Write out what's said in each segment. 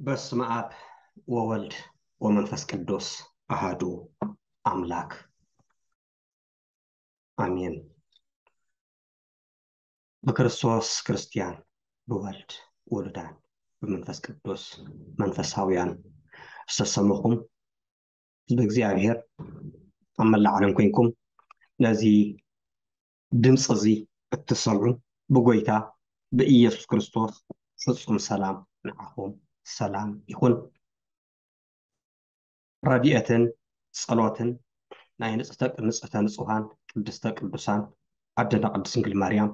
በስመ አብ ወወልድ ወመንፈስ ቅዱስ አሃዱ አምላክ አሜን። ብክርስቶስ ክርስቲያን፣ ብወልድ ውሉዳን፣ ብመንፈስ ቅዱስ መንፈሳውያን ዝተሰመኹም ህዝቢ እግዚኣብሔር ኣብ መላእ ዓለም ኮይንኩም ነዚ ድምፂ እዚ እትሰምዑ ብጎይታ ብኢየሱስ ክርስቶስ ፍጹም ሰላም ንዓኹም ሰላም ይኹን። ረድኤትን ጸሎትን ናይ ንጽሕተ ንጽሕተ ንጹሃን ቅድስተ ቅዱሳን ኣደና ቅድስት ድንግል ማርያም፣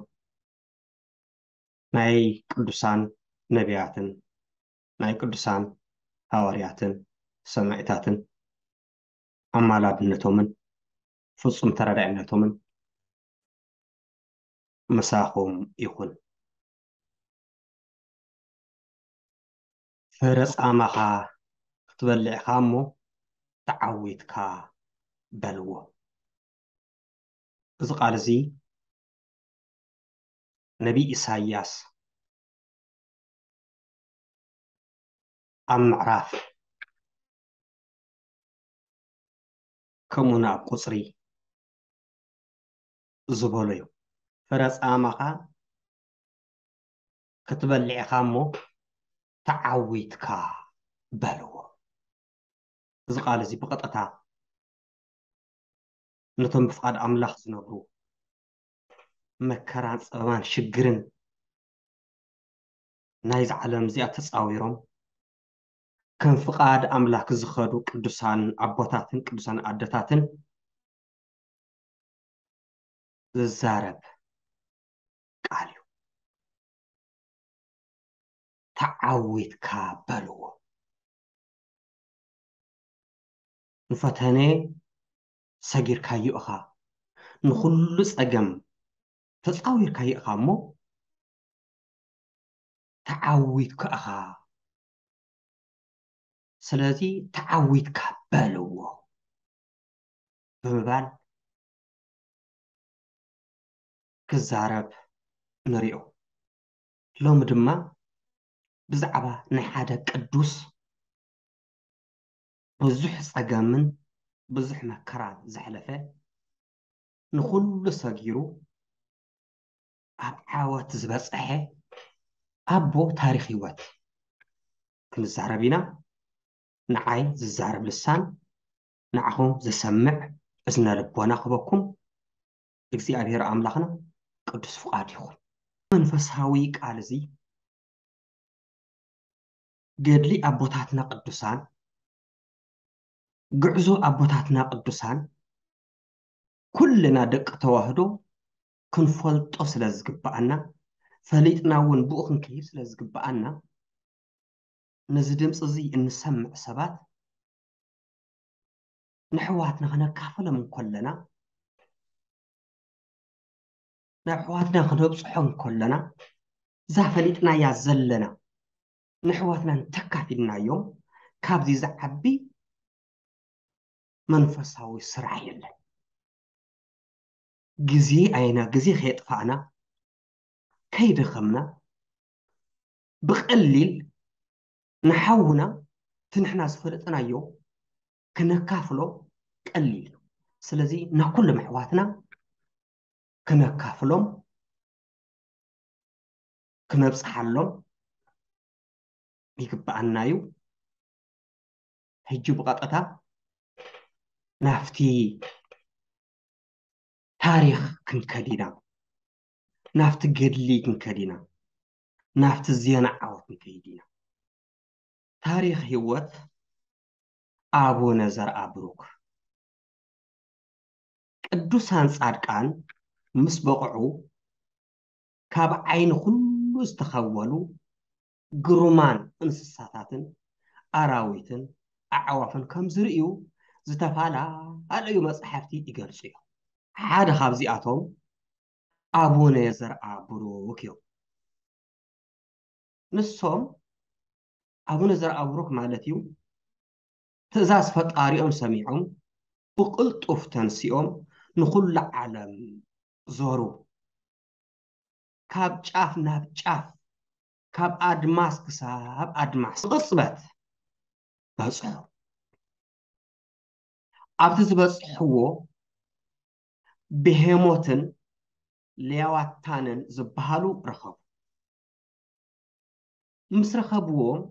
ናይ ቅዱሳን ነቢያትን ናይ ቅዱሳን ሃዋርያትን ሰማዕታትን ኣማላድነቶምን ፍጹም ተረዳኢነቶምን ምሳኹም ይኹን። ፍረ ጻማኻ ክትበልዕ ኢኻ እሞ ተዓዊትካ በልዎ። እዚ ቃል እዚ ነቢይ ኢሳይያስ ኣብ ምዕራፍ ከምኡውን ኣብ ቁጽሪ ዝበሎ እዩ። ፍረ ጻማኻ ክትበልዕ ኢኻ እሞ ተዓዊትካ በልዎ። እዚ ቃል እዚ ብቐጥታ ነቶም ብፍቓድ ኣምላኽ ዝነብሩ መከራን ጸበባን ሽግርን ናይዛ ዓለም እዚኣ ተጻዊሮም ከም ፍቓድ ኣምላኽ ዝኸዱ ቅዱሳን ኣቦታትን ቅዱሳን ኣደታትን ዝዛረብ ቃል እዩ። ተዓዊትካ በልዎ። ንፈተነ ሰጊርካዮ ኢኻ፣ ንኹሉ ጸገም ተጻዊርካዮ ኢኻ እሞ ተዓዊትካ ኢኻ። ስለዚ ተዓዊትካ በልዎ ብምባል ክዛረብ ንሪኦ። ሎሚ ድማ ብዛዕባ ናይ ሓደ ቅዱስ ብዙሕ ጸገምን ብዙሕ መከራን ዘሕለፈ፣ ንኹሉ ሰጊሩ ኣብ ዓወት ዝበጽሐ ኣቦ ታሪኽ ህይወት ክንዛረብ ኢና። ንዓይ ዝዛረብ ልሳን፣ ንዓኹም ዝሰምዕ እዝነ ልቦና ክበኩም እግዚኣብሔር ኣምላኽና ቅዱስ ፍቓድ ይኹን። መንፈሳዊ ቃል እዚ ገድሊ ኣቦታትና ቅዱሳን፣ ጉዕዞ ኣቦታትና ቅዱሳን ኩልና ደቂ ተዋህዶ ክንፈልጦ ስለ ዝግብኣና፣ ፈሊጥና እውን ብኡ ክንከይድ ስለ ዝግብኣና፣ ነዚ ድምፂ እዚ እንሰምዕ ሰባት ንሕዋትና ክነካፍሎም እንከለና፣ ናብ ኣሕዋትና ክነብፅሖ እንከለና፣ እዛ ፈሊጥናያ ዘለና ንኣሕዋትና እንተካፊልናዮም፣ ካብዚ ዝዓቢ መንፈሳዊ ስራሕ የለን። ግዜ ኣይና ግዜ ከየጥፋእና፣ ከይደኸምና፣ ብቐሊል ንሓውና እቲ ንሕና ዝፈለጥናዮ ክነካፍሎ ቀሊል እዩ። ስለዚ ንኩሎም ኣሕዋትና ክነካፍሎም፣ ክነብጽሓሎም ይግብኣና እዩ። ሕጂ ብቐጥታ ናብቲ ታሪኽ ክንከድ ኢና፣ ናብቲ ገድሊ ክንከድ ኢና፣ ናብቲ ዜና ዓወት ክንከይድ ኢና። ታሪኽ ህይወት ኣቡነ ዘርኣ ብሩክ። ቅዱሳን ጻድቃን ምስ በቕዑ፣ ካብ ዓይኒ ኩሉ ዝተኸወሉ ግሩማን እንስሳታትን ኣራዊትን ኣዕዋፍን ከም ዝርእዩ ዝተፈላለዩ መጻሕፍቲ ይገልጹ እዮም። ሓደ ካብዚኣቶም ኣቡነ ዘርኣ ብሩክ እዮም። ንሶም ኣቡነ ዘርኣ ብሩክ ማለት እዩ፣ ትእዛዝ ፈጣሪኦም ሰሚዖም ብቕልጡፍ ተንሲኦም ንኹሉ ዓለም ዞሩ። ካብ ጫፍ ናብ ጫፍ ካብ ኣድማስ ክሳብ ኣድማስ ቅጽበት በጽሑ። ኣብቲ ዝበጽሕዎ ብሄሞትን ሌዋታንን ዝበሃሉ ረኸቡ። ምስ ረኸብዎም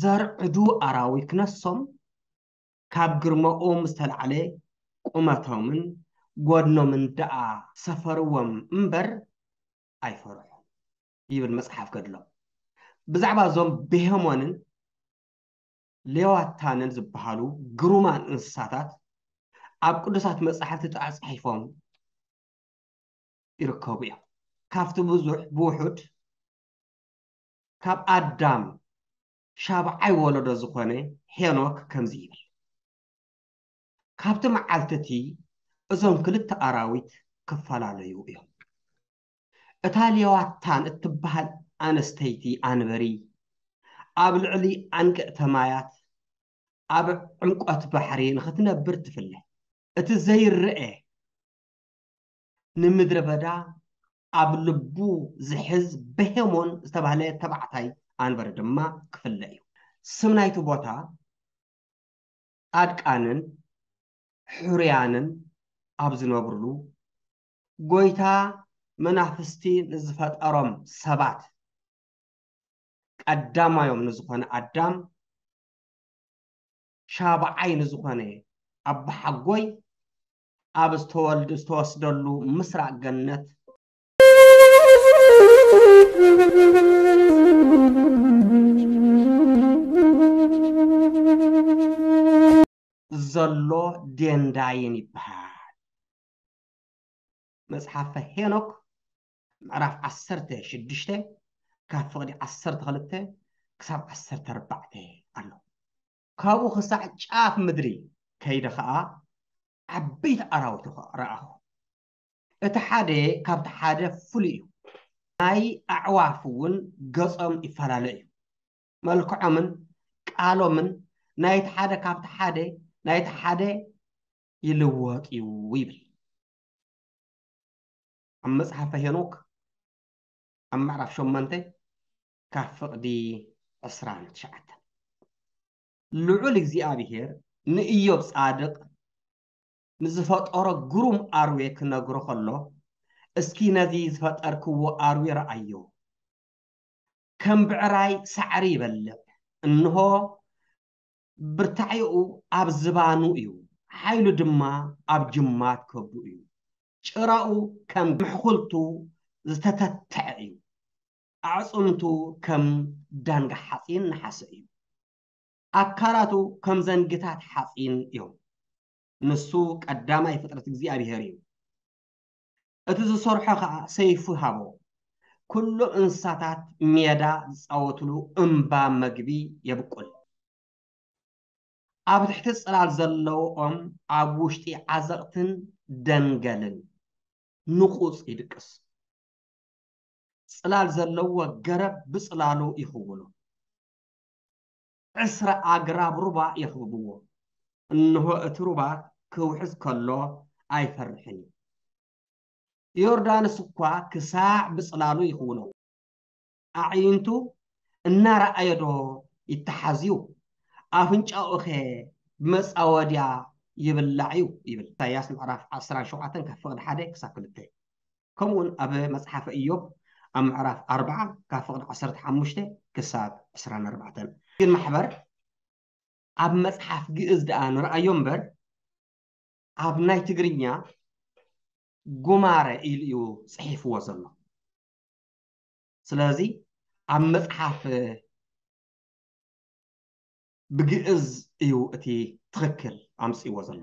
ዘርዕዱ ኣራዊት ክነሶም ካብ ግርማኦም ዝተላዕለ ቁመቶምን ጎድኖምን ደኣ ሰፈርዎም እምበር ኣይፈርሑን ይብል መጽሓፍ ገድሎም። ብዛዕባ እዞም ብሄሞንን ሌዋታንን ዝበሃሉ ግሩማን እንስሳታት ኣብ ቅዱሳት መጻሕፍቲ ተጻሒፎም ይርከቡ እዮም። ካብቲ ብዙሕ ብውሑድ ካብ ኣዳም ሻብዓይ ወለዶ ዝኾነ ሄኖክ ከምዚ ይብል፣ ካብቲ መዓልቲ እቲ እዞም ክልተ ኣራዊት ክፈላለዩ እዮም። እታ ሌዋታን እትበሃል ኣነስተይቲ ኣንበሪ ኣብ ልዕሊ ኣንቅዕተ ማያት ኣብ ዕምቆት ባሕሪ ንኽትነብር ትፍለ። እቲ ዘይረአ ንምድረ በዳ ኣብ ልቡ ዝሕዝ በሄሞን ዝተባህለ ተባዕታይ ኣንበሪ ድማ ክፍለ እዩ። ስም ናይቲ ቦታ ጻድቃንን ሕሩያንን ኣብ ዝነብሩሉ፣ ጎይታ መናፍስቲ ንዝፈጠሮም ሰባት ቀዳማዮም ንዝኾነ ኣዳም፣ ሻብዓይ ንዝኾነ ኣባሓጎይ ኣብ ዝተወልድ ዝተወስደሉ ምስራቅ ገነት ዘሎ ዴንዳይን ይበሃል። መጽሓፈ ሄኖክ ምዕራፍ ዓሰርተ ሽዱሽተ ካብ ፍቕዲ ዓሰርተ ክልተ ክሳብ ዓሰርተ ኣርባዕተ ኣሎ። ካብኡ ክሳዕ ጫፍ ምድሪ ከይደ ኸኣ ዓበይቲ ኣራዊት ረኣኹ። እቲ ሓደ ካብቲ ሓደ ፍሉይ እዩ። ናይ ኣዕዋፍ እውን ገጾም ይፈላለ እዩ። መልክዖምን ቃሎምን ናይቲ ሓደ ካብቲ ሓደ ናይቲ ሓደ ይልወጥ እዩ ይብል። ኣብ መጽሓፈ ሄኖክ ኣብ ምዕራፍ ሸሞንተ ካብ ፍቕዲ ዕስራን ትሽዓተን። ልዑል እግዚኣብሔር ንኢዮብ ጻድቕ ንዝፈጠሮ ግሩም ኣርዌ ክነግሮ ከሎ፣ እስኪ ነዚ ዝፈጠርክዎ ኣርዌ ረኣዮ። ከም ብዕራይ ሳዕሪ ይበልዕ፣ እንሆ ብርታዒኡ ኣብ ዝባኑ እዩ፣ ሓይሉ ድማ ኣብ ጅማት ከብዱ እዩ። ጭራኡ ከም ምሕኹልቱ ዝተተትዐ እዩ፣ ኣዕጽምቱ ከም ዳንጋ ሓጺን ነሓሰ እዩ። ኣካላቱ ከም ዘንግታት ሓጺን እዮም። ንሱ ቀዳማይ ፍጥረት እግዚኣብሔር እዩ። እቲ ዝሰርሖ ኸኣ ሰይፉ ሃቦ። ኩሎም እንስሳታት ሜዳ ዝጻወትሉ እምባ መግቢ የብቁል። ኣብ ትሕቲ ጽላል ዘለዎም ኣብ ውሽጢ ዓዘቕትን ደንገልን ንቑጽ ይድቅስ። ጽላል ዘለዎ ገረብ ብጽላሉ ይኽውሎ። ዕስራ ኣግራብ ሩባ የኽብብዎ። እንሆ እቲ ሩባ ክውሕዝ ከሎ ኣይፈርሕን እዩ። ዮርዳኖስ እኳ ክሳዕ ብጽላሉ ይኽውሎ። ኣዕይንቱ እናረኣየ ዶ ይተሓዝዩ? ኣፍንጫኡኸ ብመጻወድያ ይብላዕ እዩ? ይብል። ኢሳይያስ ምዕራፍ ዓሰርተ ሸውዓተ ካብ ፍቕዲ ሓደ ክሳብ ክልተ። ከምኡውን ኣብ መጽሓፈ ኢዮብ ኣብ ምዕራፍ ኣርባዓ ካብ ፍቕዲ ዓሰርተ ሓሙሽተ ክሳብ ዕስራን ኣርባዕተን። ግን ማሕበር ኣብ መጽሓፍ ግእዝ ደኣ ንረኣዮ እምበር ኣብ ናይ ትግርኛ ጉማረ ኢሉ እዩ ጽሒፍዎ ዘሎ። ስለዚ ኣብ መጽሓፍ ብግእዝ እዩ እቲ ትኽክል ኣምጽእዎ ዘሎ።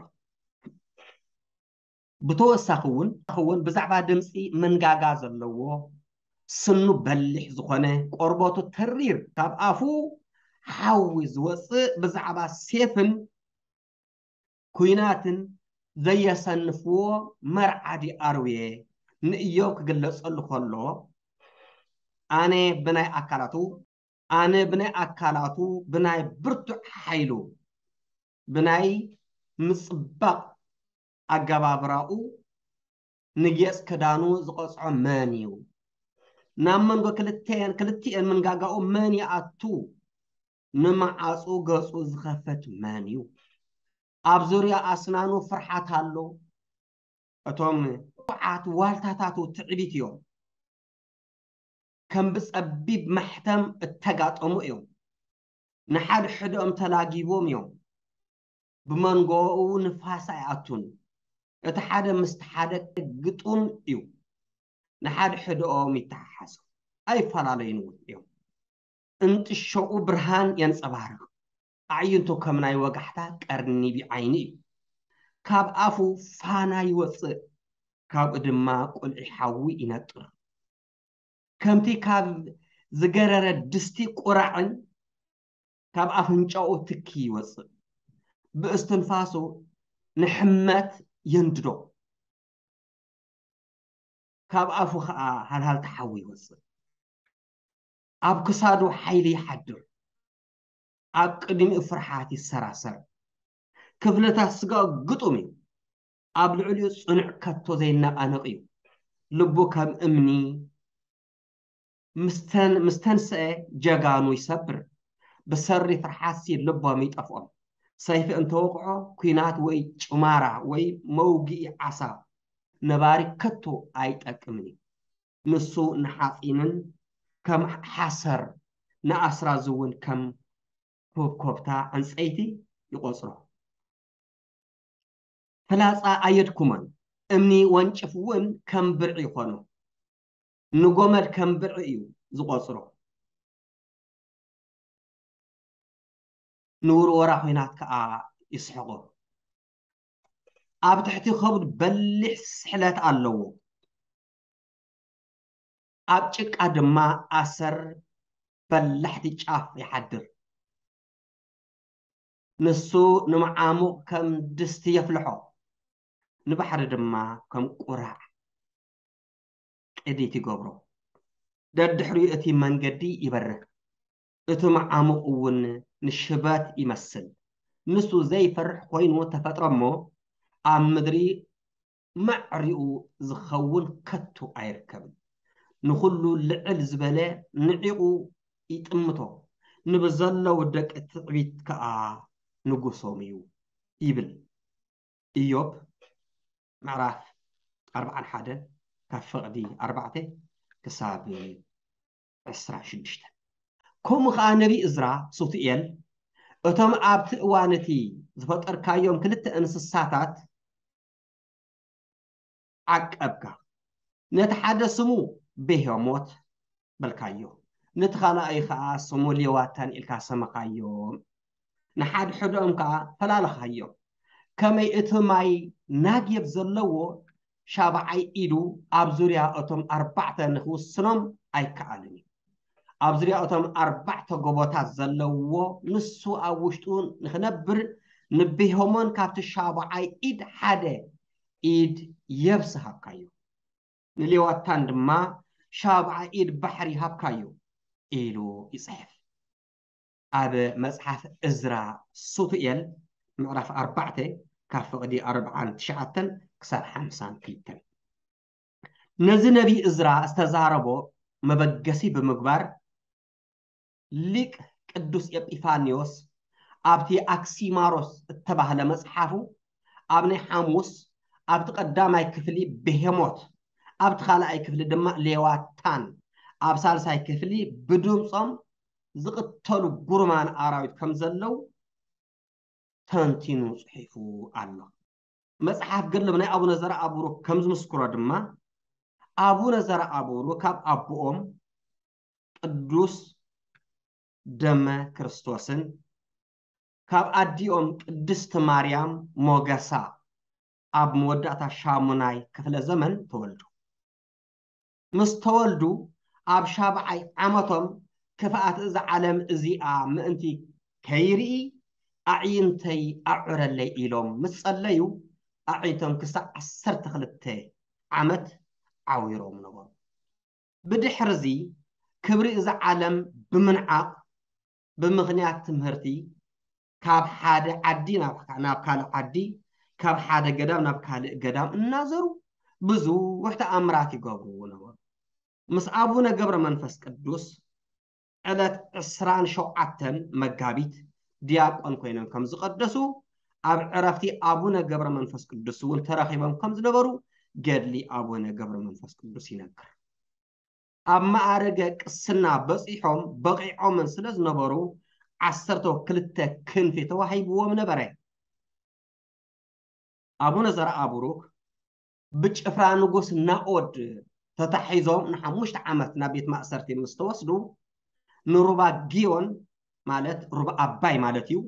ብተወሳኺ እውን እውን ብዛዕባ ድምፂ መንጋጋ ዘለዎ ስኑ በሊሕ ዝኾነ ቆርበቱ ተሪር ካብ ኣፉ ሓዊ ዝወፅእ ብዛዕባ ሴፍን ኩናትን ዘየሰንፍዎ መርዓዲ ኣርዌ ንእዮብ ክግለጸሉ ከሎ ኣነ ብናይ ኣካላቱ ኣነ ብናይ ኣካላቱ ብናይ ብርቱዕ ሓይሉ ብናይ ምጽባቕ ኣገባብራኡ ንጌጽ ክዳኑ ዝቐጽዖ መን እዩ? ናብ መንጎ ክልተን ክልቲኤን መንጋጋኡ መን ይኣቱ? ንመዓጹ ገጹ ዝኸፈት መን እዩ? ኣብ ዙርያ ኣስናኑ ፍርሓት ኣሎ። እቶም ቁዓት ዋልታታቱ ትዕቢት እዮም። ከም ብጸቢብ ማሕተም እተጋጠሙ እዮም። ንሓድሕድኦም ተላጊቦም እዮም። ብመንጎኡ ንፋስ ኣይኣቱን። እቲ ሓደ ምስቲ ሓደ ግጡም እዩ። ንሓድሕድኦም ይተሓሓዙ። ኣይፈላለዩን እውን እዮም። እንጥሾኡ ብርሃን የንጸባርቕ። ኣዕይንቱ ከም ናይ ወጋሕታ ቀርኒ ቢዓይኒ እዩ። ካብ ኣፉ ፋና ይወጽእ፣ ካብኡ ድማ ቁልዒ ሓዊ ይነጥር። ከምቲ ካብ ዝገረረ ድስቲ ቁራዕን ካብ ኣፍንጫኡ ትኪ ይወጽእ። ብእስትንፋሱ ንሕመት የንድዶ። ካብ ኣፉ ኸኣ ሃልሃልቲ ሓዊ ይወጽእ። ኣብ ክሳዱ ሓይሊ ይሓድር። ኣብ ቅድሚኡ ፍርሓት ይሰራሰር። ክፍልታት ስጋኡ ግጡም እዩ። ኣብ ልዕሊኡ ጽኑዕ ከቶ ዘይነቓነቕ እዩ። ልቡ ከም እምኒ ምስተን-፣ ምስተንስአ ጀጋኑ ይሰብር። ብሰሪ ፍርሓትሲ ልቦም ይጠፍኦም። ሰይፊ እንተወቕዖ፣ ኲናት ወይ ጭማራ ወይ መውግኢ ዓሳ ነባሪ ከቶ ኣይጠቅምን እዩ። ንሱ ንሓጺንን ከም ሓሰር፣ ንኣስራዚ እውን ከም ኮብኮብታ ዕንጸይቲ ይቖጽሮ። ፍላጻ ኣየድኩሞን፣ እምኒ ወንጭፍ እውን ከም ብርዒ ይኾኖ። ንጎመድ ከም ብርዒ እዩ ዝቖጽሮ። ንውርወራ ኲናት ከኣ ይስሕቖ። ኣብ ትሕቲ ከብዱ በሊሕ ስሕለት ኣለዎ። ኣብ ጭቃ ድማ ኣሰር በላሕቲ ጫፍ ይሓድር። ንሱ ንመዓሙቕ ከም ድስቲ የፍልሖ፣ ንባሕሪ ድማ ከም ቁራዕ ቅዲት ይገብሮ። ደድሕሪኡ እቲ መንገዲ ይበርህ፣ እቲ መዓሙቕ እውን ንሽበት ይመስል። ንሱ ዘይፈርሕ ኮይኑ ተፈጥሮ እሞ፣ ኣብ ምድሪ ማዕሪኡ ዝኸውን ከቶ ኣይርከብን። ንኹሉ ልዕል ዝበለ ንዒቑ ይጥምቶ፣ ንብዘለዉ ደቂ ትዕቢት ከኣ ንጉሶም እዩ ይብል። ኢዮብ ምዕራፍ ኣርብዓን ሓደን ካብ ፍቕዲ ኣርባዕተ ክሳብ ዕስራ ሽዱሽተ። ከምኡ ኸኣ ነቢ እዝራ ሱቱኤል እቶም ኣብቲ እዋን እቲ ዝፈጠርካዮም ክልተ እንስሳታት ዓቀብካ። ነቲ ሓደ ስሙ ቤሄሞት በልካዮ፣ ነቲ ካልኣይ ኸኣ ስሙ ሌዋታን ኢልካ ሰመኻዮም። ንሓድሕዶም ከኣ ፈላልኻዮም። ከመይ እቲ ማይ ናግየብ ዘለዎ ሻብዓይ ኢዱ ኣብ ዙርያ እቶም ኣርባዕተ ንኽውስኖም ኣይከኣልን እዩ። ኣብ ዙርያ እቶም ኣርባዕተ ጎቦታት ዘለዎ ንሱ ኣብ ውሽጡ ንኽነብር ንቤሆሞን ካብቲ ሻብዓይ ኢድ ሓደ ኢድ የብስ ሃብካዮ። ንሌዋታን ድማ ሻብዓይ ኢድ ባሕሪ ሃብካዮ ኢሉ ይጽሕፍ። ኣብ መጽሓፍ እዝራ ሱቱኤል ምዕራፍ ኣርባዕተ ካብ ፍቕዲ ኣርብዓን ትሽዓተን ክሳብ ሓምሳን ክልተን። ነዚ ነቢ እዝራ ዝተዛረቦ መበገሲ ብምግባር ሊቅ ቅዱስ ኤጲፋንዮስ ኣብቲ ኣክሲማሮስ እተባህለ መጽሓፉ ኣብ ናይ ሓሙስ ኣብቲ ቀዳማይ ክፍሊ ብሄሞት ኣብቲ ካልኣይ ክፍሊ ድማ ሌዋታን ኣብ ሳልሳይ ክፍሊ ብድምጾም ዝቕተሉ ጉርማን ኣራዊት ከም ዘለዉ ተንቲኑ ጽሒፉ ኣሎ። መጽሓፍ ገድሊ ናይ ኣቡነ ዘርኣቡሩክ ከም ዝምስክሮ ድማ ኣቡነ ዘርኣቡሩክ ካብ ኣቦኦም ቅዱስ ደመ ክርስቶስን ካብ ኣዲኦም ቅድስቲ ማርያም ሞገሳ ኣብ መወዳእታ ሻሙናይ ክፍለ ዘመን ተወልዱ። ምስ ተወልዱ ኣብ ሻብዓይ ዓመቶም ክፍኣት እዛ ዓለም እዚኣ ምእንቲ ከይርኢ ኣዕይንተይ ኣዑረለይ ኢሎም ምስ ጸለዩ ኣዕይንቶም ክሳዕ ዓሰርተ ክልተ ዓመት ዓዊሮም ነበሩ። ብድሕርዚ ክብሪ እዛ ዓለም ብምንዓቕ ብምኽንያት ትምህርቲ ካብ ሓደ ዓዲ ናብ፣ ናብ ካልእ ዓዲ፣ ካብ ሓደ ገዳም ናብ ካልእ ገዳም እናዘሩ ብዙሕ ተኣምራት ይገብሩ ነበሩ። ምስ ኣቡነ ገብረ መንፈስ ቅዱስ ዕለት ዕስራን ሸውዓተን መጋቢት ዲያቆን ኮይኖም ከም ዝቐደሱ፣ ኣብ ዕረፍቲ ኣቡነ ገብረ መንፈስ ቅዱስ እውን ተረኺቦም ከም ዝነበሩ ገድሊ ኣቡነ ገብረ መንፈስ ቅዱስ ይነግር። ኣብ ማዕረገ ቅስና በጺሖም በቒዖምን ስለ ዝነበሩ፣ ዓሰርተ ክልተ ክንፊ ተዋሂብዎም ነበረ። ኣቡነ ዘርኣቡሩክ ብጭፍራ ንጉስ ናኦድ ተታሒዞም ንሓሙሽተ ዓመት ናብ ቤት ማእሰርቲ ምስ ተወስዱ፣ ንሩባ ጊዮን፣ ማለት ሩባ ኣባይ ማለት እዩ፣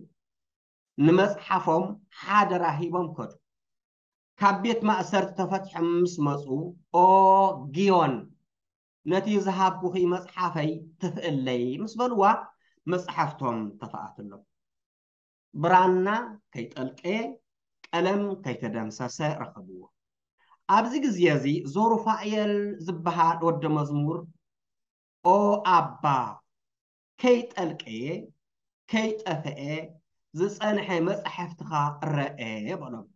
ንመጽሓፎም ሓደራ ሂቦም ከዱ። ካብ ቤት ማእሰርቲ ተፈቲሖም ምስ መጹ፣ "ኦ ጊዮን፣ ነቲ ዝሃብኩኺ መጽሓፈይ ትፍእለይ" ምስ በልዋ፣ መጽሓፍቶም ተፈኣትሎም። ብራና ከይጠልቀየ፣ ቀለም ከይተደምሰሰ ረኸብዎ። ኣብዚ ግዜ እዚ ዞሩፋኤል ዝበሃል ወዲ መዝሙር፣ "ኦ ኣባ፣ ከይጠልቀየ፣ ከይጠፍኤ ዝጸንሐ መጻሕፍትኻ ረኤ" በሎም።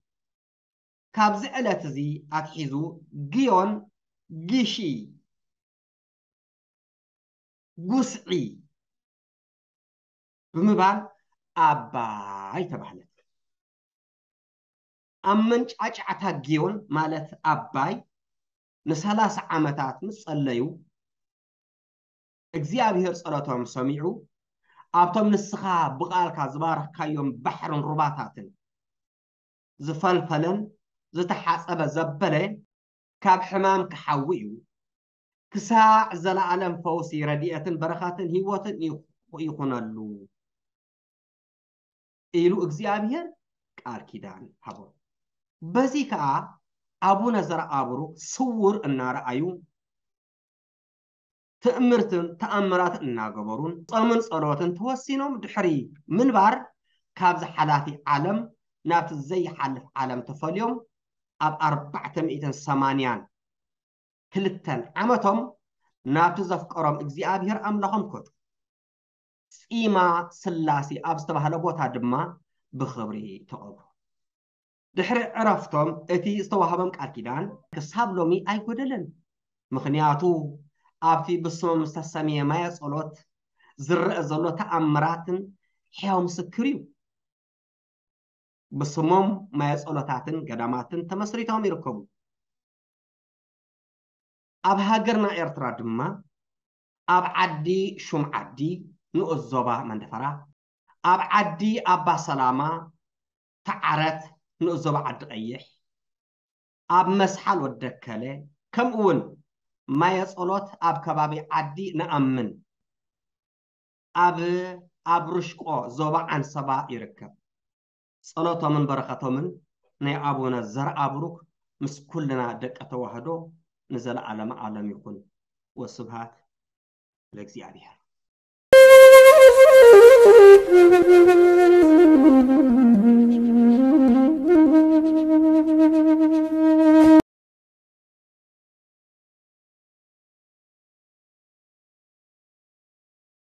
ካብዚ ዕለት እዚ ኣትሒዙ ጊዮን ጊሺ፣ ጉስዒ ብምባል ኣባይ ተባህለት። ኣብ መንጫዕጫዕታ ጊዮን፣ ማለት ኣባይ፣ ንሰላሳ ዓመታት ምስ ጸለዩ፣ እግዚኣብሔር ጸሎቶም ሰሚዑ፣ ኣብቶም ንስኻ ብቓልካ ዝባረኽካዮም ባሕርን ሩባታትን ዝፈልፈለን ዝተሓጸበ ዘበለ፣ ካብ ሕማም ክሓዊ እዩ። ክሳዕ ዘለኣለም ፈውሲ፣ ረድኤትን በረኸትን ህይወትን ይኹ-፣ ይኹነሉ ኢሉ እግዚኣብሔር ቃል ኪዳን ሃቦም። በዚ ከኣ ኣቡነ ዘርኣብሩክ ስውር እናረኣዩ፣ ትእምርትን ተኣምራትን እናገበሩን ጾምን ጸሎትን ተወሲኖም ድሕሪ ምንባር፣ ካብዚ ሓላፊ ዓለም ናብቲ ዘይሓልፍ ዓለም ተፈልዮም፣ ኣብ ኣርባዕተ ሚእትን ሰማንያን ክልተን ዓመቶም ናብቲ ዘፍቀሮም እግዚኣብሔር ኣምላኾም ከዱ። ጺማ ስላሴ ኣብ ዝተባህለ ቦታ ድማ ብኽብሪ ተቐብሩ። ድሕሪ ዕረፍቶም እቲ ዝተዋህቦም ቃል ኪዳን ክሳብ ሎሚ ኣይጎደለን። ምኽንያቱ ኣብቲ ብስሞም ዝተሰምየ ማየ ጸሎት ዝረአ ዘሎ ተኣምራትን ሕያው ምስክር እዩ። ብስሞም ማየ ጸሎታትን ገዳማትን ተመስሪቶም ይርከቡ። ኣብ ሃገርና ኤርትራ ድማ ኣብ ዓዲ ሹም ዓዲ ንኡስ ዞባ መንደፈራ፣ ኣብ ዓዲ ኣባ ሰላማ፣ ተዓረት ንኡስ ዞባ ዓዲ ቀይሕ፣ ኣብ መስሓል ወደከለ፣ ከምኡ እውን ማየ ጸሎት ኣብ ከባቢ ዓዲ ንኣምን ኣብ፣ ኣብ ርሽቆ ዞባ ዓንሰባ ይርከብ። ጸሎቶምን በረኸቶምን ናይ ኣቡነ ዘርኣብሩክ ምስ ኩልና ደቂ ተዋህዶ ንዘለዓለመ ዓለም ይኹን። ወስብሃት ለእግዚኣብሔር።